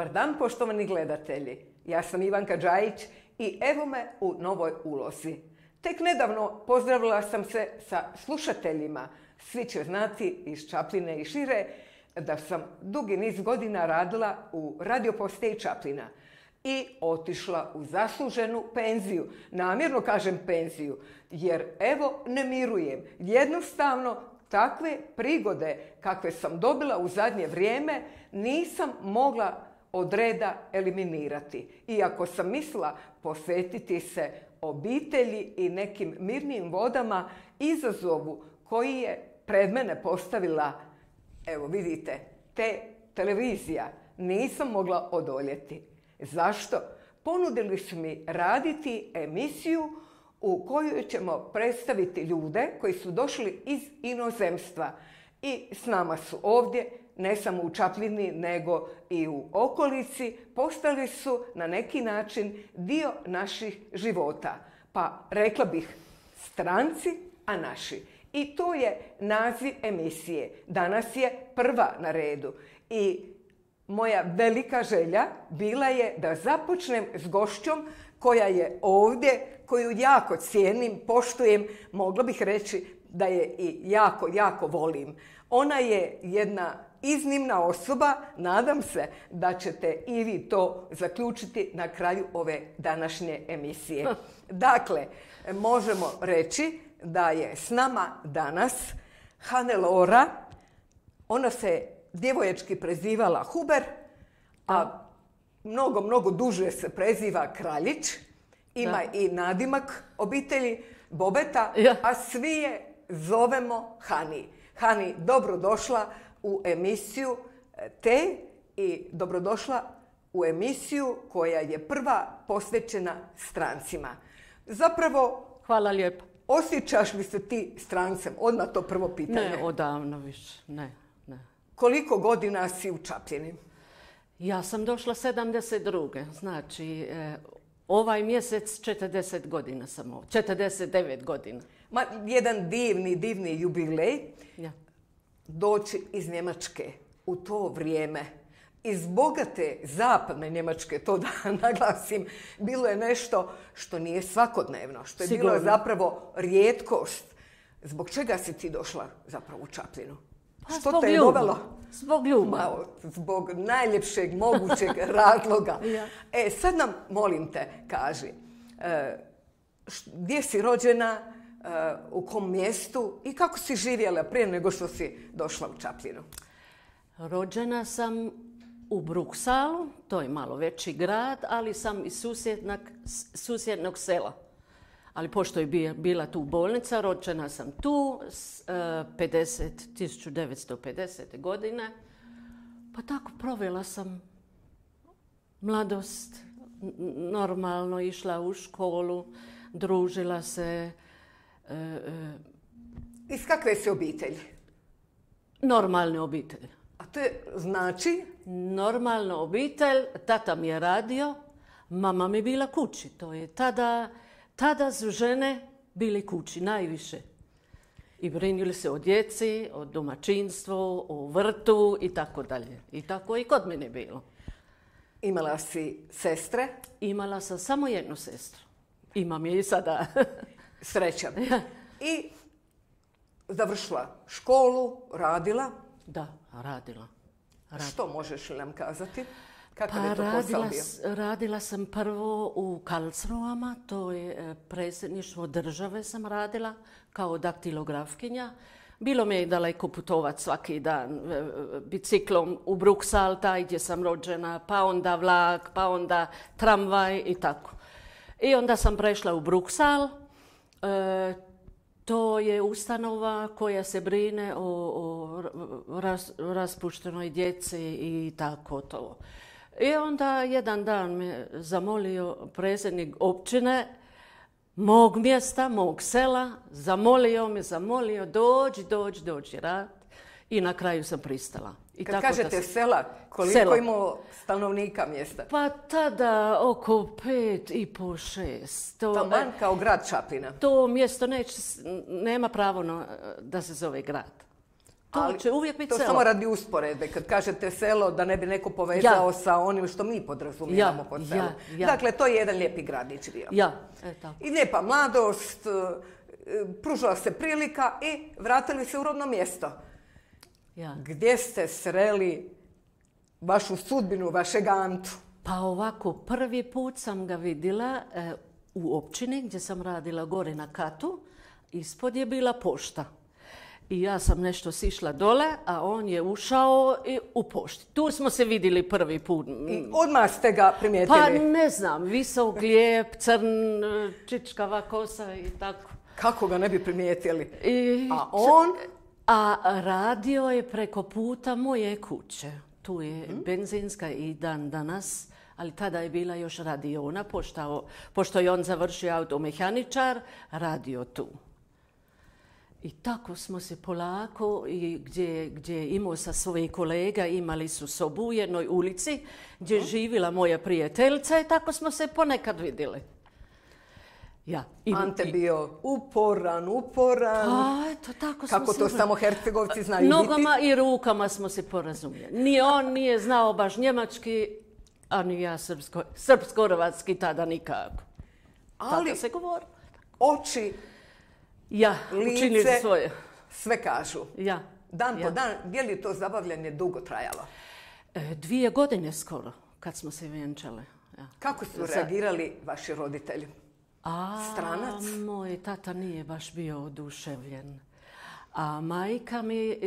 Dobar dan, poštovani gledatelji. Ja sam Ivanka Đajić i evo me u novoj ulozi. Tek nedavno pozdravila sam se sa slušateljima. Svi će znati iz Čapljine i šire da sam dugi niz godina radila u radio postaji Čapljina i otišla u zasluženu penziju. Namjerno kažem penziju, jer evo ne mirujem. Jednostavno, takve prigode kakve sam dobila u zadnje vrijeme nisam mogla od reda eliminirati. Iako sam mislila posvetiti se obitelji i nekim mirnim vodama izazovu koji je pred mene postavila, evo vidite, televizija, nisam mogla odoljeti. Zašto? Ponudili su mi raditi emisiju u kojoj ćemo predstaviti ljude koji su došli iz inozemstva i s nama su ovdje, ne samo u Čapljini, nego i u okolici, postali su na neki način dio naših života. Pa rekla bih stranci, a naši. I to je naziv emisije. Danas je prva na redu. I moja velika želja bila je da započnem s gošćom koja je ovdje, koju jako cijenim, poštujem, mogla bih reći da je i jako, jako volim. Ona je jedna iznimna osoba, nadam se da ćete i vi to zaključiti na kraju ove današnje emisije. Dakle, možemo reći da je s nama danas Hannelore. Ona se djevojački prezivala Huber, a mnogo duže se preziva Kraljić. Ima i nadimak obitelji Bobeta, a svi je zovemo Hani. Hani, dobrodošla u emisiju i dobrodošla u emisiju koja je prva posvećena strancima. Zapravo, hvala lijepo. Osjećaš li se ti strancem? Odmah to prvo pitanje. Ne, odavno više, ne. Koliko godina si u Čapljini? Ja sam došla 72. Znači, ovaj mjesec 40 godina sam ovdje. 49 godina. Jedan divni jubilej. Ja. Doći iz Njemačke u to vrijeme, iz bogate zapadne Njemačke, to da naglasim, bilo je nešto što nije svakodnevno, što je bilo zapravo rijetkost. Zbog čega si ti došla zapravo u Čapljinu? Što te je dovelo? Zbog ljubavi. Zbog najljepšeg mogućeg razloga. Ja. Sad nam, molim te, kaži, gdje si rođena, u kom mjestu i kako si živjela prije nego što si došla u Čapljinu? Rođena sam u Bruksalu, to je malo veći grad, ali sam iz susjednog sela. Ali pošto je bila tu bolnica, rođena sam tu 1950. godine. Pa tako provela sam mladost, normalno išla u školu, družila se. Iz kakve si obitelji? Normalne obitelji. A to je znači? Normalna obitelj, tata mi je radio, mama mi bila kući. To je tada su žene bili kući najviše. I brinuli se o djeci, o domaćinstvu, o vrtu i tako dalje. I tako i kod mene bilo. Imala si sestre? Imala sam samo jednu sestru. Imam je i sada. Srećan. I završila školu, radila? Da, radila. Što možeš li nam kazati? Kakav je to posao bio? Radila sam prvo u Karlsruhama, to je predsjedništvo države sam radila kao daktilografkinja. Bilo mi je daleko putovati svaki dan biciklom u Bruksal, taj gdje sam rođena, pa onda vlak, pa onda tramvaj i tako. I onda sam prešla u Bruksal. To je ustanova koja se brine o raspuštenoj djeci i tako to. I onda jedan dan me zamolio predsjednik općine mog mjesta, mog sela, zamolio, dođi rad i na kraju sam pristala. I kad kažete sela, koliko imao stanovnika mjesta? Pa tada oko 5,5-6. Taman kao grad Čapljina. To mjesto nema pravo da se zove grad. To će uvijek biti to selo. samo radi usporedbe. Kad kažete selo, da ne bi neko povezao sa onim što mi podrazumijevamo pod selom. Dakle, to je jedan lijepi gradić bio. Tako. I lijepa mladost, pružila se prilika i vratili se u rodno mjesto. Gdje ste sreli vašu sudbinu, vašeg Antu? Pa ovako, prvi put sam ga vidjela u općini gdje sam radila gore na katu. Ispod je bila pošta. I ja sam nešto sišla dole, a on je ušao i u pošti. Tu smo se vidjeli prvi put. I odmah ste ga primijetili? Pa ne znam, visok, lijep, crn, čičkava kosa i tako. Kako ga ne bi primijetili? A on? A radio je preko puta moje kuće. Tu je benzinska i dan danas, ali tada je bila još radiona, pošto je on završio automehaničar, radio tu. I tako smo se polako, i gdje je imao sa svojih kolega, imali su sobu u jednoj ulici gdje je živjela moja prijateljica i tako smo se ponekad vidjeli. Ante bio uporan. Eto, tako kako to samo Hercegovci znaju biti. Nogama i rukama smo se porazumjeli. Ni on nije znao baš njemački, a ni ja srpsko-hrvatski tada nikako. Ali tako se govori. Oči, lice, svoje. Sve kažu. Dan po dan, je li to zabavljanje dugo trajalo? 2 godine skoro, kad smo se vjenčali. Kako su reagirali vaši roditelji? Stranac? Moj tata nije baš bio oduševljen. A majka mi,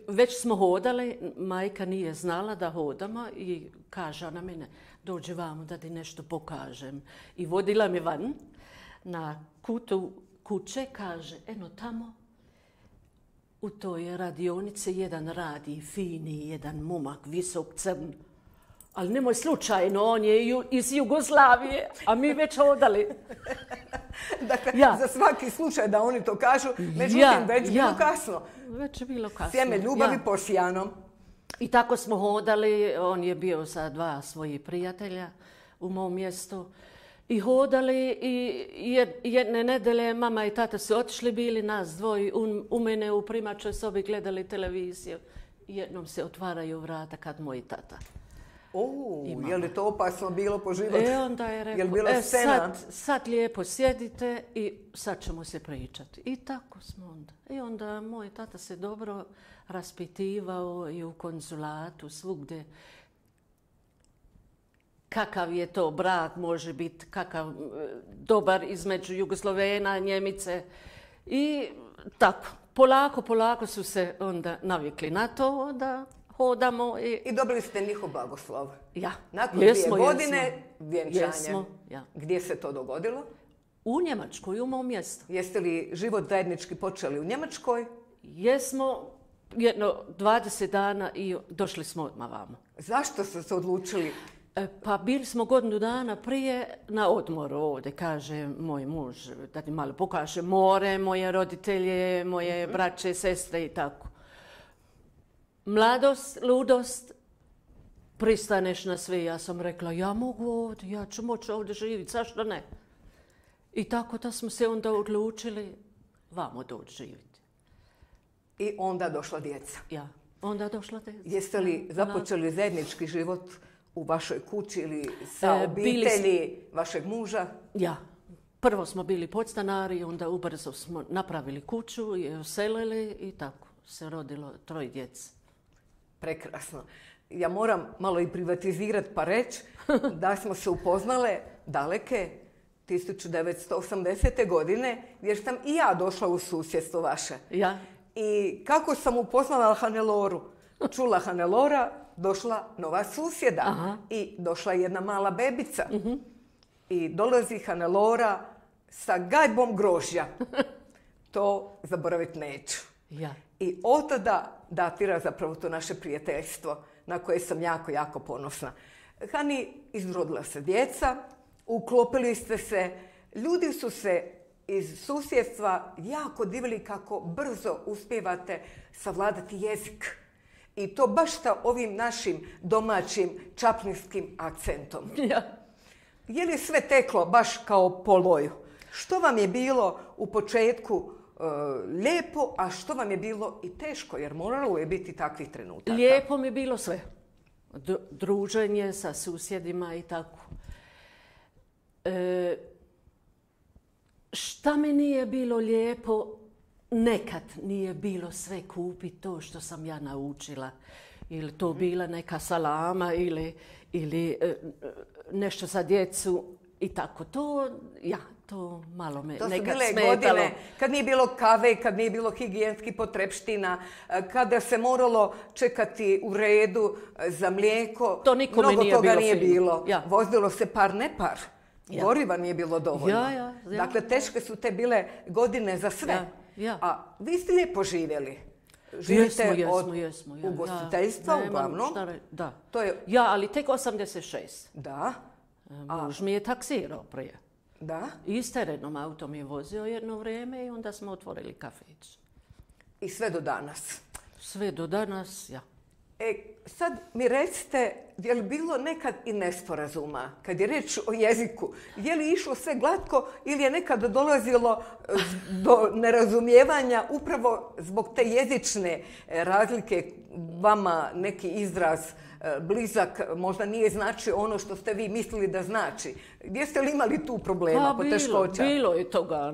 već smo hodali, majka nije znala da hodamo i kaže na mene, dođi vamo da ti nešto pokažem. I vodila me van na kutu kuće, kaže, eno tamo, u toj radionici jedan radi, fini, jedan momak, visok, crn. Ali nemoj slučajno, on je iz Jugoslavije, a mi već hodali. Dakle, za svaki slučaj da oni to kažu, međutim, već bilo kasno. Već je bilo kasno. Sjeme ljubavi posijano. I tako smo hodali, on je bio sa 2 svojih prijatelja u mom mjestu. I hodali i jedne nedelje mama i tata su otišli, bili nas dvoji u mene u primačoj sobi gledali televiziju. I jednom se otvaraju vrata kad moj tata. Je li to opasno bilo po život? Onda je rekao, sad lijepo sjedite i sad ćemo se pričati. I tako smo onda. I onda moj tata se dobro raspitivao i u konzulatu, svugdje. Kakav je to brak, može biti kakav dobar između Jugoslovena, Njemice. I tako, polako su se onda navikli na to da hodamo. I dobili ste njihov blagoslov. Nakon 2 godine vjenčanja. Gdje se to dogodilo? U Njemačkoj, u mom mjestu. Jeste li život zajednički počeli u Njemačkoj? Jesmo, 20 dana i došli smo odmah vamo. Zašto ste se odlučili? Pa bili smo godinu dana prije na odmoru ovdje, kaže moj muž, da ti malo pokaže more, moje roditelje, moje braće, sestre i tako. Mladost, ludost, pristaneš na sve. Ja sam rekla, ja mogu ovdje, ja ću moći ovdje živjeti, zašto ne? I tako da smo se onda odlučili vamo doći živjeti. I onda došla djeca. Onda došla djeca. Jeste li započeli zajednički život u vašoj kući ili sa obitelji vašeg muža? Prvo smo bili podstanari, onda ubrzo smo napravili kuću i uselili i tako se rodilo 3 djece. Prekrasno. Ja moram malo i privatizirati pa reći da smo se upoznale daleke 1980. godine jer sam i ja došla u susjedstvo vaše. I kako sam upoznala Haneloru? Čula Hanelora, došla nova susjeda i došla jedna mala bebica. I dolazi Hanelora sa gajbom grožđa. To zaboraviti neću. I od tada datira zapravo to naše prijateljstvo na koje sam jako, jako ponosna. Hani, izrodila se djeca, uklopili ste se, ljudi su se iz susjedstva jako divili kako brzo uspijevate savladati jezik. I to baš sa ovim našim domaćim čaplinskim akcentom. Je li sve teklo baš kao po loju? Što vam je bilo u početku lijepo, a što vam je bilo i teško, jer moralo je biti takvih trenutaka? Lijepo mi je bilo sve. Druženje sa susjedima i tako. Šta mi nije bilo lijepo, nekad nije bilo sve kupiti to što sam ja naučila. Ili to bila neka salama ili nešto za djecu i tako. To malo me nekad smetalo. To su bile godine kad nije bilo kave, kad nije bilo higijenskih potrepština, kada se moralo čekati u redu za mlijeko. To nikome Mnogo nije toga bilo nije fino. bilo. Ja. Vozilo se par nepar. Ja. Goriva nije bilo dovoljno. Ja. Dakle, teške su te bile godine za sve. Ja. A vi ste lijepo živjeli. Živite jesmo. Ugostiteljstva uglavnom. Da. To je... Ja, ali tek 86. Da. Muž mi je taksirao prije. Da. I s terenom auto mi je vozio jedno vrijeme i onda smo otvorili kafić. I sve do danas? Sve do danas, ja. Sad mi recite, je li bilo nekad i nesporazuma kad je riječ o jeziku? Je li išlo sve glatko ili je nekad dolazilo do nerazumijevanja upravo zbog te jezične razlike? Vama neki izraz blizak možda nije znači ono što ste vi mislili da znači. Gdje ste li imali tu problema, poteškoća? Bilo je toga.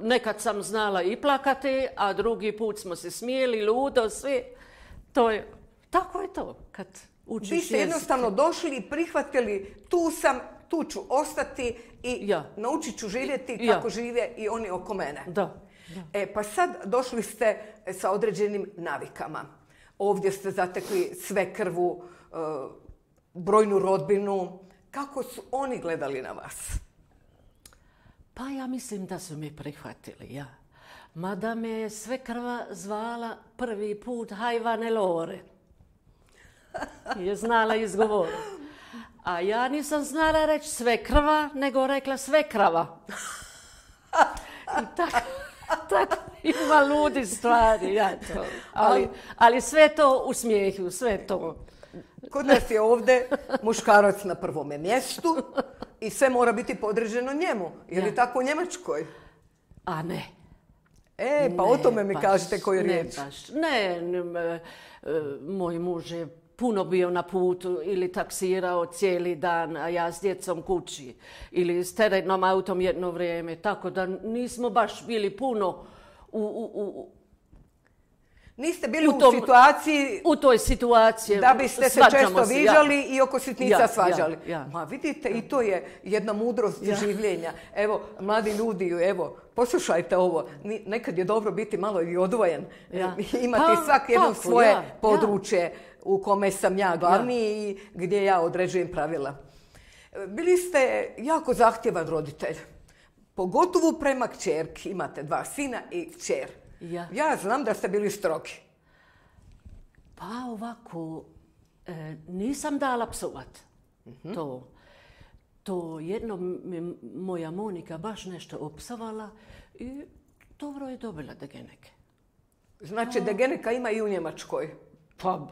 Nekad sam znala i plakati, a drugi put smo se smijeli, ludo, svi. Tako je to kad učiš jezik. Vi ste jednostavno došli i prihvatili tu sam, tu ću ostati i naučit ću živjeti kako žive i oni oko mene. Da. Pa sad došli ste sa određenim navikama. Ovdje ste zatekli svekrvu, brojnu rodbinu. Kako su oni gledali na vas? Pa ja mislim da su mi prihvatili, ja. Mada me je svekrva zvala prvi put Hajvane Lore. Je znala izgovoriti. A ja nisam znala reći svekrva, nego rekla svekrava. I tako ima ludi stvari, ja to. Ali sve to u smijehu, sve to. Kod nas je ovdje muškarac na prvome mjestu i sve mora biti podređeno njemu. Je li tako u Njemačkoj? A ne. Pa o tome mi kažete koju riječ. Ne, moj muž je puno bio na putu ili taksirao cijeli dan, a ja s djecom kući. Ili s teretnom autom jedno vrijeme. Tako da nismo baš bili puno Niste bili u situaciji... U toj situaciji. Da biste se često viđali i oko sitnica svađali. Ma vidite, i to je jedna mudrost življenja. Evo, mladi ljudi, poslušajte ovo. Nekad je dobro biti malo i odvojen. Imati svak jedno svoje područje u kome sam ja glavni i gdje ja određujem pravila. Bili ste jako zahtjevan roditelj. Pogotovo prema kćerki. Imate 2 sina i kćer. Ja znam da ste bili strogi. Pa ovako, nisam dala psovat. To jednom moja Monika baš nešto opsovala i dobro je dobila degeneke. Znači degeneka ima i u Njemačkoj? Pa,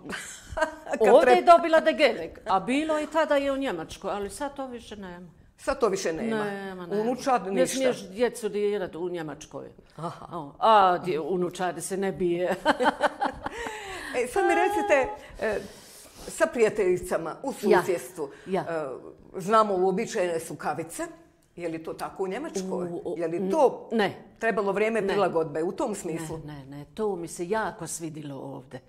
ovdje je dobila degenek, a bilo je tada i u Njemačkoj, ali sad to više nema. Sad to više nema? Unučad ništa? Ne smiješ djecu dirati u Njemačkoj. A unučadi se ne bije. Sad mi recite, sa prijateljicama u susjedstvu, znamo uobičajene su kavice. Je li to tako u Njemačkoj? Je li to trebalo vrijeme prilagodbe u tom smislu? Ne, to mi se jako svidilo ovdje.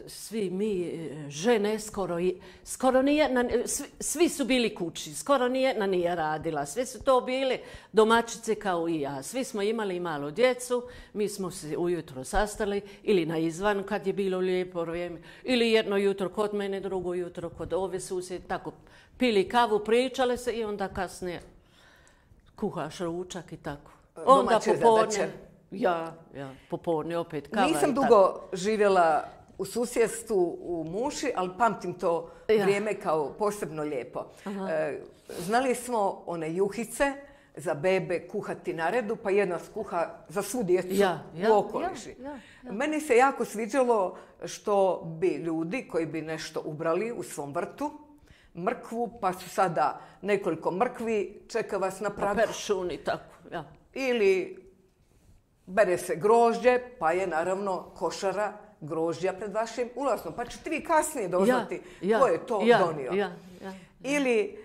Svi mi žene skoro svi su bili kući, skoro nijedna nije radila, svi su to bili domaćice kao i ja. Svi smo imali malo djecu, mi smo se ujutro sastali ili na izvan kad je bilo lijepo vrijeme, ili jedno jutro kod mene, drugo jutro kod ove susjede, tako pili kavu, pričale se i onda kasnije kuhaš ručak i tako. Onda popodne. Ja, popodne opet kava. Nisam dugo živjela u susjedstvu u Muši, ali pamtim to vrijeme kao posebno lijepo. Znali smo one juhice za bebe kuhati na redu, pa jedna skuha za svu djecu u okoliši. Meni se jako sviđalo što bi ljudi koji bi nešto ubrali u svom vrtu, mrkvu, pa su sada nekoliko mrkvi, čeka vas na pragu. Peršun i tako, Ili bere se grožđe, pa je naravno košara grožđa pred vašim ulazom. Pa ćete vi kasnije doznati ko je to donio. Ili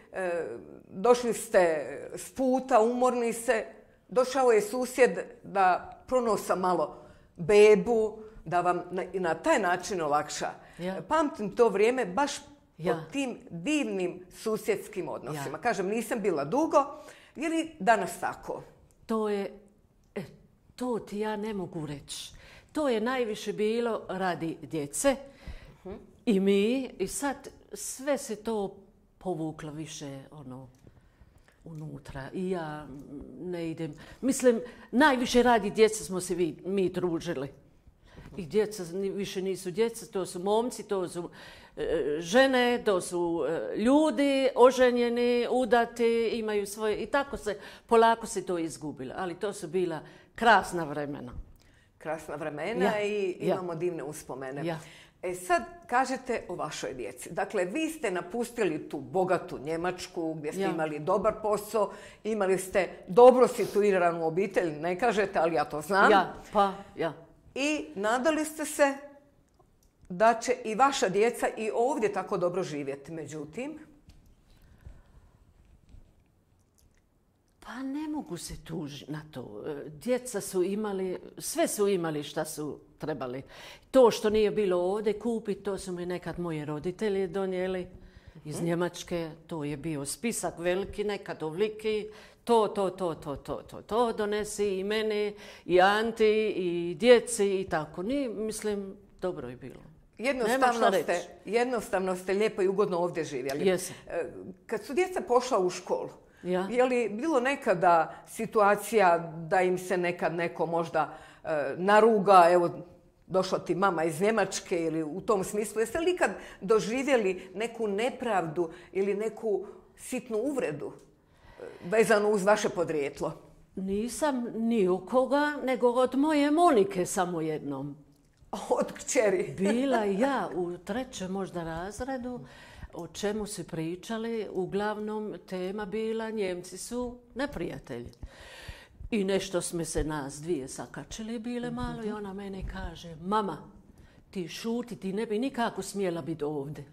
došli ste s puta, umorni se, došao je susjed da pronosa malo bebu, da vam na taj način olakša. Pamtim to vrijeme baš pod tim divnim susjedskim odnosima. Kažem, nisam bila dugo, je li danas tako? To ti ja ne mogu reći. To je najviše bilo radi djece i mi. I sad sve se to povuklo više unutra. I ja ne idem. Mislim, najviše radi djece smo se mi družili. I djeca više nisu djeca, to su momci, to su žene, to su ljudi oženjeni, udati, imaju svoje... I tako polako se to izgubilo. Ali to su bila krasna vremena. Krasna vremena i imamo divne uspomene. Sad kažete o vašoj djeci. Dakle, vi ste napustili tu bogatu Njemačku gdje ste imali dobar posao, imali ste dobro situiranu obitelj, ne kažete, ali ja to znam. I nadali ste se da će i vaša djeca i ovdje tako dobro živjeti. Međutim... Pa ne mogu se tužiti na to. Djeca su imali, sve su imali šta su trebali. To što nije bilo ovdje kupiti, to su mi nekad moji roditelji donijeli iz Njemačke. To je bio spisak veliki, nekad ovliki. To donesi i meni, i Anti, i djeci i tako. Mislim, dobro je bilo. Jednostavno ste lijepo i ugodno ovdje živjeli. Kad su djeca pošla u školu, je li bilo nekada situacija da im se nekad neko možda naruga, evo, došla ti mama iz Njemačke ili u tom smislu, jeste li ikad doživjeli neku nepravdu ili neku sitnu uvredu vezanu uz vaše podrijetlo? Nisam ni u koga, nego od moje Monike samo jednom. Od kćeri? Bila ja u 3. možda razredu. O čemu su pričali, uglavnom tema bila Njemci su neprijatelji. I nešto smo se nas dvije sakačili bile malo i ona mene kaže, mama, ti šuti, ti ne bi nikako smjela biti ovdje.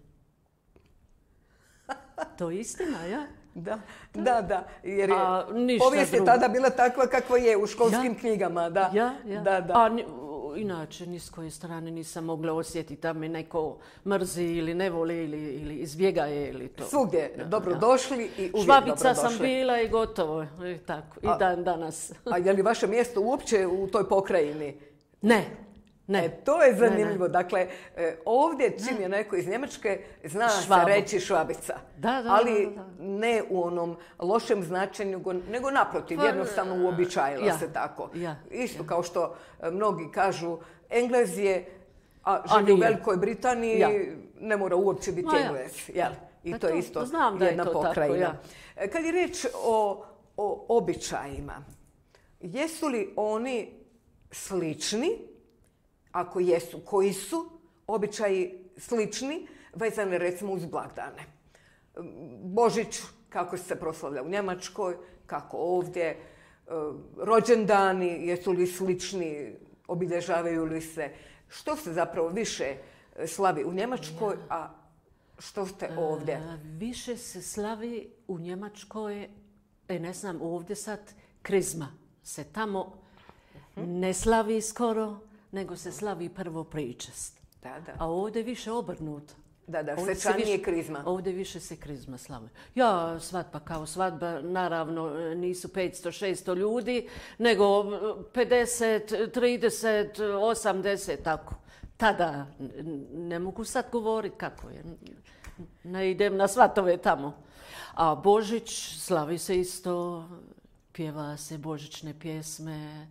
To je istina, ja? Da. Jer je povijest je tada bila takva kakva je u školskim knjigama. Da. Inače, ni s koje strane nisam mogla osjetiti da me neko mrzi ili ne voli ili izbjegaje ili to. Svugdje dobrodošli i uvijek dobrodošli. Švabica sam bila i gotovo. Tako, i dan danas. A je li vaše mjesto uopće u toj pokrajini? Ne. To je zanimljivo. Dakle, ovdje čim je neko iz Njemačke zna se reći Švabica. Ali ne u onom lošem značenju, nego naprotiv, jednostavno uobičajila se tako. Isto kao što mnogi kažu Englez je, a živi u Velikoj Britaniji, ne mora uopće biti Englez. I to je isto jedna pokrajina. Kad je riječ o običajima, jesu li oni slični? Ako jesu, koji su običaji slični, vezane recimo uz blagdane? Božić, kako se proslavlja u Njemačkoj, kako ovdje, rođendani, jesu li slični, obilježavaju li se? Što se zapravo više slavi u Njemačkoj, a što ste ovdje? Više se slavi u Njemačkoj, ne znam, ovdje sad krizma se tamo ne slavi skoro, nego se slavi prvo pričest. A ovdje više obrnuto. Svečanije krizma. Ovdje više se krizma slavi. Svadba kao svadba, naravno nisu 500-600 ljudi, nego 50, 30, 80, tako. Tada ne mogu sad govoriti kako je. Ne idem na svatove tamo. A Božić slavi se isto, pjeva se božićne pjesme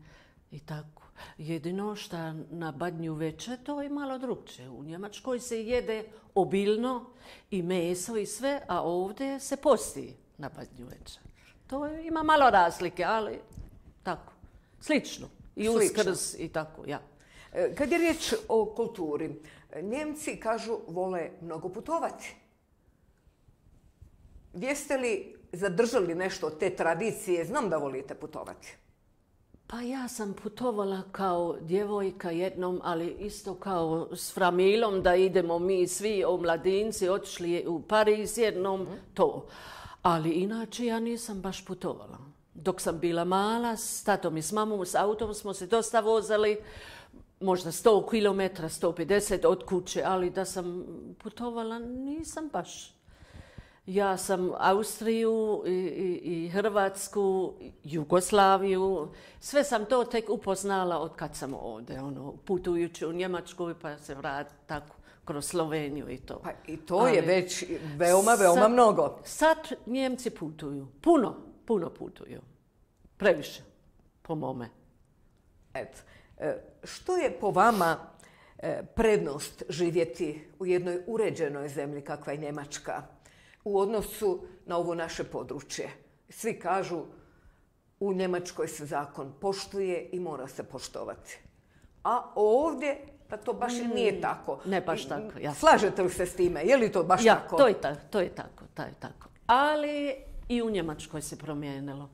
i tako. Jedino što na Badnju večer to je malo drugčije. U Njemačkoj se jede obilno i meso i sve, a ovdje se posti na Badnju večer. To ima malo razlike, ali tako, slično. I Uskrs i tako, Kad je riječ o kulturi, Njemci kažu vole mnogo putovati. Jeste li zadržali nešto od te tradicije? Znam da volite putovati. Pa ja sam putovala kao djevojka jednom, ali isto kao s Framilom, da idemo mi svi omladinci, otišli u Pariz jednom, to. Ali inače ja nisam baš putovala. Dok sam bila mala, s tatom i s mamom, s autom smo se dosta vozali, možda 100 km, 150 od kuće, ali da sam putovala nisam baš. Ja sam Austriju i Hrvatsku, Jugoslaviju, sve sam to tek upoznala od kad sam ovdje, putujući u Njemačku pa se vrati tako kroz Sloveniju i to. Pa i to je već veoma mnogo. Sad Njemci putuju, puno putuju, previše, po mome. Eto, što je po vama prednost živjeti u jednoj uređenoj zemlji kakva je Njemačka u odnosu na ovo naše područje? Svi kažu u Njemačkoj se zakon poštuje i mora se poštovati. A ovdje pa to baš i nije tako. Ne baš tako, ja. Slažete li se s time? Je li to baš tako? To je tako. Ali i u Njemačkoj se promijenilo.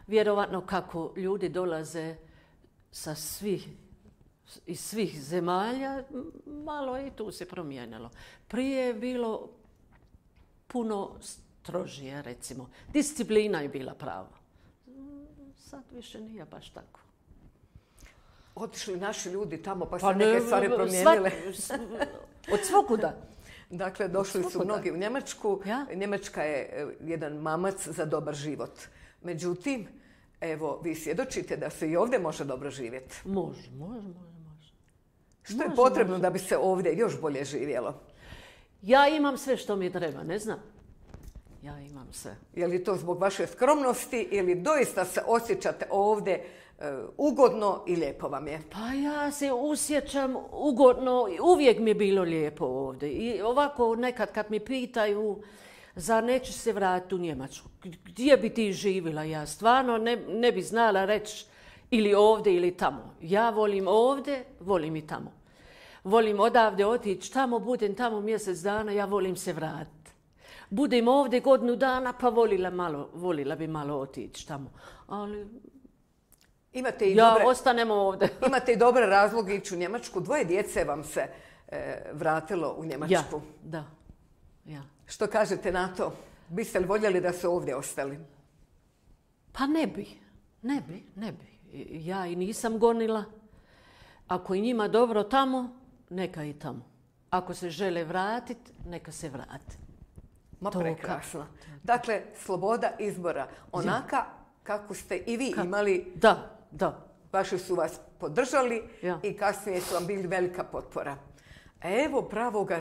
Vjerovatno kako ljudi dolaze iz svih zemalja, malo i tu se promijenilo. Prije je bilo puno strožije, recimo. Disciplina je bila prava. Sad više nije baš tako. Otišli naši ljudi tamo pa se neke stvari promijenile. Od svukuda. Dakle, došli su mnogi u Njemačku. Ja? Njemačka je jedan mamac za dobar život. Međutim, evo, vi svjedočite da se i ovdje može dobro živjeti. Može. Što je potrebno da bi se ovdje još bolje živjelo? Ja imam sve što mi treba, ne znam. Ja imam sve. Je li to zbog vaše skromnosti ili doista se osjećate ovdje ugodno i lijepo vam je? Pa ja se osjećam ugodno, uvijek mi je bilo lijepo ovdje. I ovako nekad kad mi pitaju zar neću se vratiti u Njemačku, gdje bi ti živjela? Ja stvarno ne bi znala reći ili ovdje ili tamo. Ja volim ovdje, volim i tamo. Volim odavde otići tamo, budem tamo mjesec dana, ja volim se vratiti. Budem ovdje godinu dana, pa volila bi malo otići tamo. Ali ostanemo ovdje. Imate i dobre razloge ići u Njemačku. 2 djece vam se vratilo u Njemačku. Ja. Što kažete na to? Biste li voljeli da su ovdje ostali? Pa ne bi. Ja i nisam gonila. Ako je njima dobro tamo, neka i tamo. Ako se žele vratiti, neka se vrati. Ma prekrasno. Dakle, sloboda izbora. Onaka kako ste i vi imali. Da. Vaši su vas podržali i kasnije su vam bili velika potpora. Evo pravoga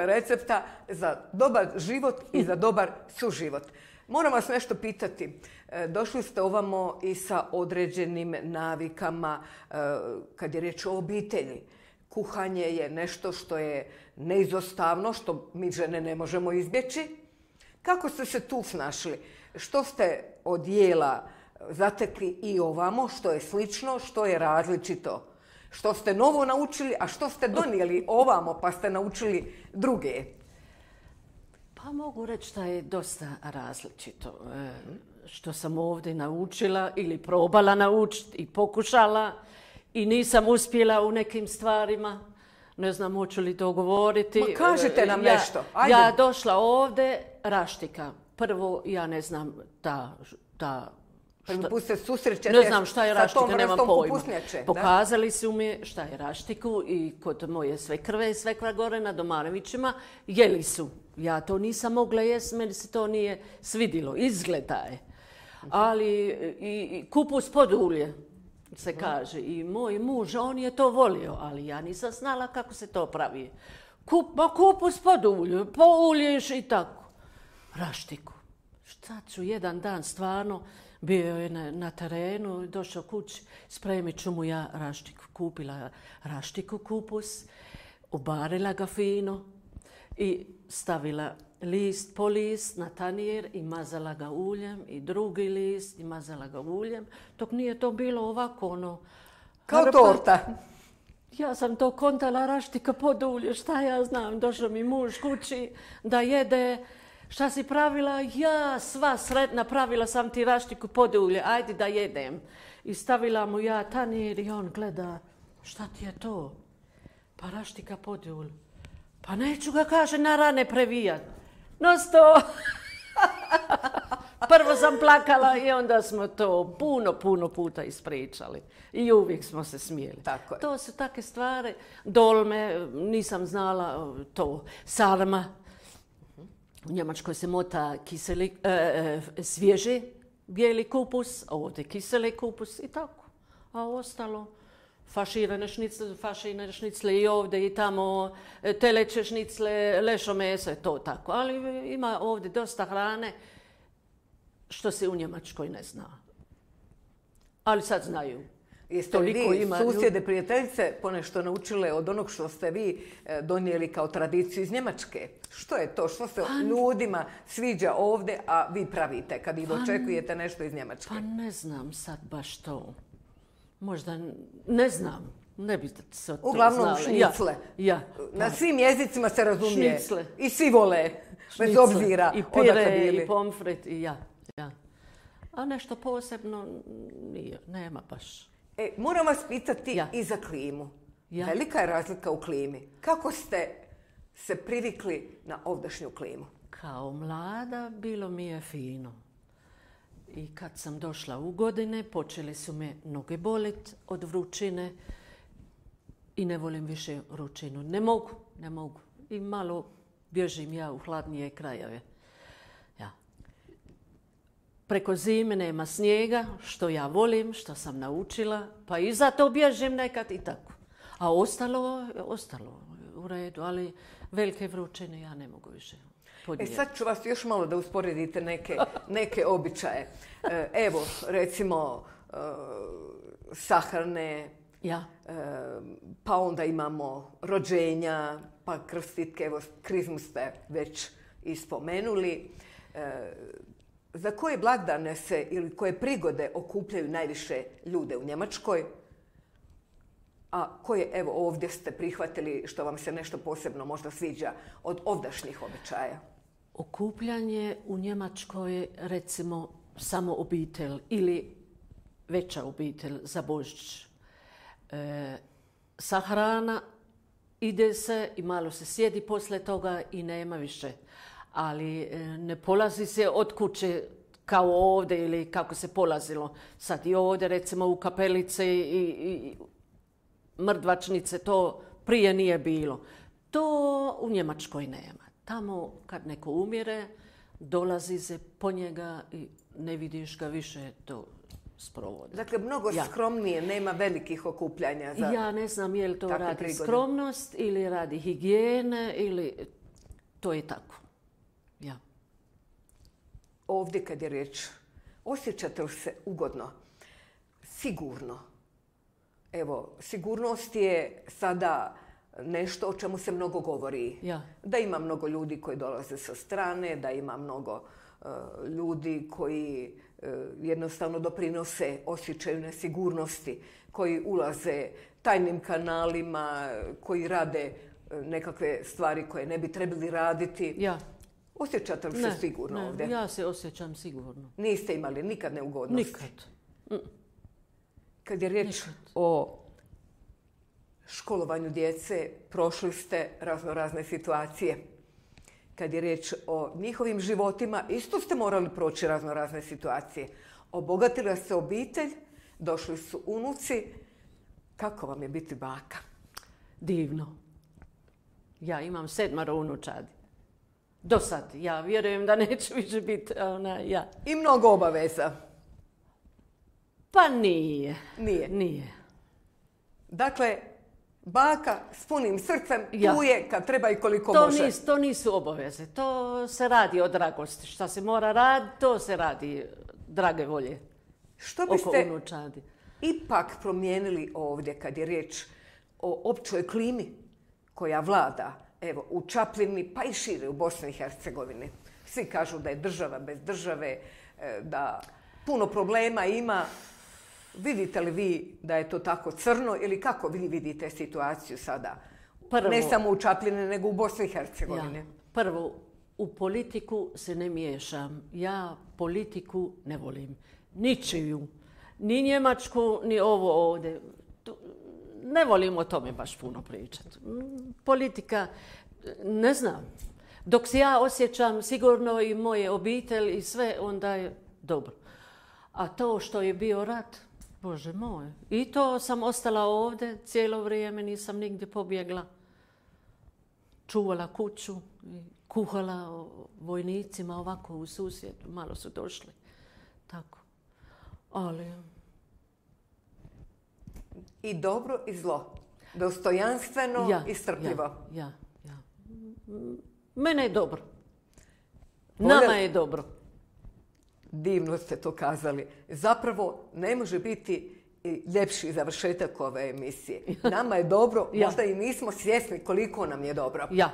recepta za dobar život i za dobar suživot. Moram vas nešto pitati. Došli ste ovamo i sa određenim navikama kad je riječ o obitelji. Kuhanje je nešto što je neizostavno, što mi žene ne možemo izbjeći. Kako ste se tu snašli? Što ste od jela zatekli i ovamo, što je slično, što je različito? Što ste novo naučili, a što ste donijeli ovamo pa ste naučili druge? Pa mogu reći da je dosta različito. Što sam ovdje naučila ili probala naučiti i pokušala i nisam uspjela u nekim stvarima. Ne znam hoću li to govoriti. Ma kažite nam nešto. Ajde. Ja došla ovdje, raštika. Prvo, ja ne znam Prvi se susrećete ne znam šta je raštika, nemam pojma. Pokazali su mi šta je raštiku i kod moje svekrve i svekra gore na Domarevićima jeli su. Ja to nisam mogla jesti, meni se to nije svidilo. Izgleda je. Ali i kupus pod ulje se kaže. I moj muž, on je to volio, ali ja nisam znala kako se to pravi. Kupus pod ulje, poulješ i tako. Raštiku. Šta ću jedan dan stvarno, bio je na terenu, došao kući, spremit ću mu ja raštiku. Kupila raštiku, kupus, ubarila ga fino i stavila list po list na tanjir i mazala ga uljem i drugi list i mazala ga uljem. Dok nije to bilo ovako kao torta. Ja sam to kontala raštika pod ulje, šta ja znam. Došao mi muž kući da jede, Šta si pravila? Ja, sva sretna, pravila sam ti raštiku podulje, ajde da jedem. I stavila mu ja tanjir i on gleda, šta ti je to? Pa raštika podulj. Pa neću ga, kaže, na rane previjat. No sto! Prvo sam plakala i onda smo to puno puta ispričali. I uvijek smo se smijeli. Tako je. To su takve stvari. Dolme, nisam znala to. Sarma. U Njemačkoj se mota svježi bijeli kupus, a ovdje kiseli kupus i tako. A ostalo faširane šnicle i ovdje i tamo, teleće šnicle, lešo meso, to tako. Ali ima ovdje dosta hrane što se u Njemačkoj ne zna. Ali sad znaju. Jeste li vi, susjede, prijateljice, ponešto naučile od onog što ste vi donijeli kao tradiciju iz Njemačke? Što je to? Što se ljudima sviđa ovdje, a vi pravite kad ih očekujete nešto iz Njemačke? Pa ne znam sad baš to. Možda ne znam. Ne bi se to uglavnom šnicle. Ja. Na svim jezicima se razumije. Šnicle. I svi vole, bez obzira i odakle pire, bili. i pomfrit, i ja. A nešto posebno nije, nema baš. Moram vas pitati i za klimu. Velika je razlika u klimi. Kako ste se privikli na ovdašnju klimu? Kao mlada bilo mi je fino. I kad sam došla u godine, počeli su me noge bolit od vrućine i ne volim više vrućinu. Ne mogu. I malo bježim ja u hladnije krajeve. Preko zime nema snijega, što ja volim, što sam naučila, pa i zato bježim nekad i tako. A ostalo u redu, ali velike vrućine ja ne mogu više podnijeti. Sad ću vas još malo da usporedite neke običaje. Evo, recimo, sahrane, pa onda imamo rođenja, pa krstitke, evo, krizmu ste već i spomenuli. Za koje blagdane se ili koje prigode okupljaju najviše ljude u Njemačkoj? A koje, evo, ovdje ste prihvatili što vam se nešto posebno možda sviđa od ovdašnjih običaja? Okupljanje u Njemačkoj je, recimo, samo obitelj ili veća obitelj za Božić. Sahrana, ide se i malo se sjedi poslije toga i nema više. Ali ne polazi se od kuće kao ovdje ili kako se polazilo. Sad i ovdje, recimo u kapelice i mrtvačnice, to prije nije bilo. To u Njemačkoj nema. Tamo kad neko umire, dolazi se po njega i ne vidiš ga više to sprovode. Dakle, mnogo skromnije, nema velikih okupljanja za ja ne znam je li to radi prigode. Skromnost ili radi higijene ili to je tako. Ovdje kad je riječ, osjećate li se ugodno? Sigurno. Evo, sigurnost je sada nešto o čemu se mnogo govori. Da ima mnogo ljudi koji dolaze sa strane, da ima mnogo ljudi koji jednostavno doprinose osjećaju nesigurnosti, koji ulaze tajnim kanalima, koji rade nekakve stvari koje ne bi trebali raditi. Osjećate li se sigurno ovdje? Ja se osjećam sigurno. Niste imali nikad neugodnosti? Nikad. Kad je riječ o školovanju djece, prošli ste razne situacije. Kad je riječ o njihovim životima, isto ste morali proći razne situacije. Obogatila se obitelj, došli su unuci. Kako vam je biti baka? Divno. Ja imam 7 unučadi. Do sad. Ja vjerujem da neće više biti I mnogo obaveza? Pa nije. Nije. Dakle, baka s punim srcem tu je kad treba i koliko može. To nisu obaveze. To se radi od dragosti. Šta se mora raditi, to se radi drage volje. Što biste ipak promijenili ovdje kad je riječ o općoj klimi koja vlada? Evo, u Čapljini, pa i šire u Bosni i Hercegovini. Svi kažu da je država bez države, da puno problema ima. Vidite li vi da je to tako crno ili kako vi vidite situaciju sada? Ne samo u Čapljini, nego u Bosni i Hercegovini. Prvo, u politiku se ne miješam. Ja politiku ne volim. Ničiju. Ni Njemačku, ni ovo ovdje. Ne volim o tome baš puno pričati. Politika, ne znam. Dok se ja osjećam sigurno i moje obitelj i sve, onda je dobro. A to što je bio rat, Bože moj. I to sam ostala ovdje cijelo vrijeme, nisam nigdje pobjegla. Čuvala kuću, kuhala vojnicima ovako u susjedu. Malo su došli. Tako. Ali... I dobro i zlo. Dostojanstveno i strpljivo. Ja. Mene je dobro. Nama je dobro. Divno ste to kazali. Zapravo ne može biti ljepši završetak ove emisije. Nama je dobro, možda i nismo svjesni koliko nam je dobro. Ja.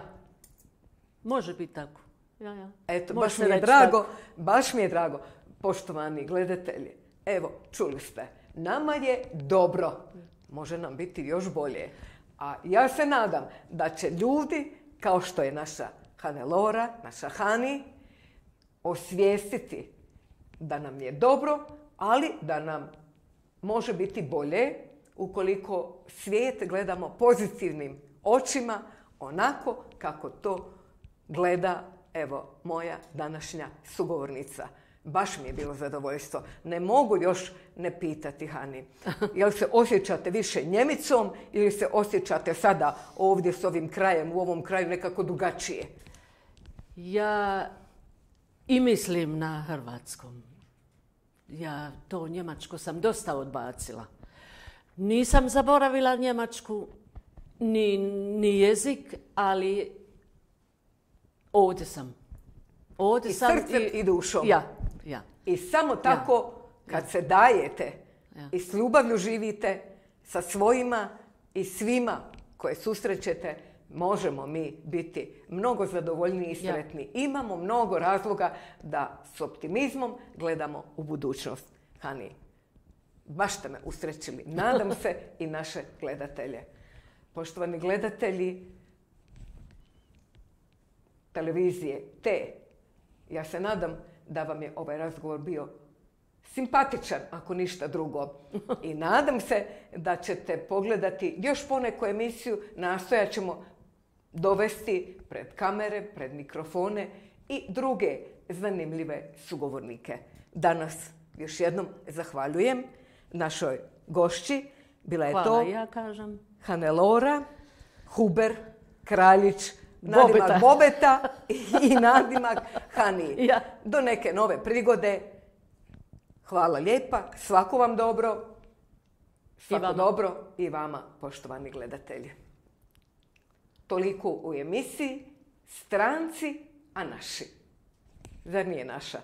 Može biti tako. Ja. Eto, baš mi je drago, poštovani gledatelji. Evo, čuli ste. Nama je dobro. Može nam biti još bolje. A ja se nadam da će ljudi, kao što je naša Hannelore, naša Hani, osvijestiti da nam je dobro, ali da nam može biti bolje ukoliko svijet gledamo pozitivnim očima, onako kako to gleda, evo, moja današnja sugovornica. Baš mi je bilo zadovoljstvo. Ne mogu još ne pitati, Hani, jel se osjećate više Njemicom ili se osjećate sada ovdje s ovim krajem, u ovom kraju nekako drugačije? Ja i mislim na hrvatskom. Ja to njemačko sam odbacila. Nisam zaboravila njemačku, ni jezik, ali ovdje sam. I srcem i dušom. Ja. I samo tako, kad se dajete i s ljubavlju živite sa svojima i svima koje susrećete, možemo mi biti mnogo zadovoljniji i sretni. Imamo mnogo razloga da s optimizmom gledamo u budućnost. Hani, baš ste me usrećili. Nadam se i naše gledatelje. Poštovani gledatelji televizije T, ja se nadam da vam je ovaj razgovor bio simpatičan, ako ništa drugo. I nadam se da ćete pogledati još poneku emisiju. Nastojat ćemo dovesti pred kamere, pred mikrofone i druge zanimljive sugovornike. Danas još jednom zahvaljujem našoj gošći. Bila je to ja kažem. Hannelore Huber Kraljić, nadimak Bobeta i nadimak Hani. Do neke nove prigode. Hvala lijepa. Svako vam dobro. Svako dobro i vama, poštovani gledatelji. Toliko u emisiji Stranci, a naši. Zar nije naša?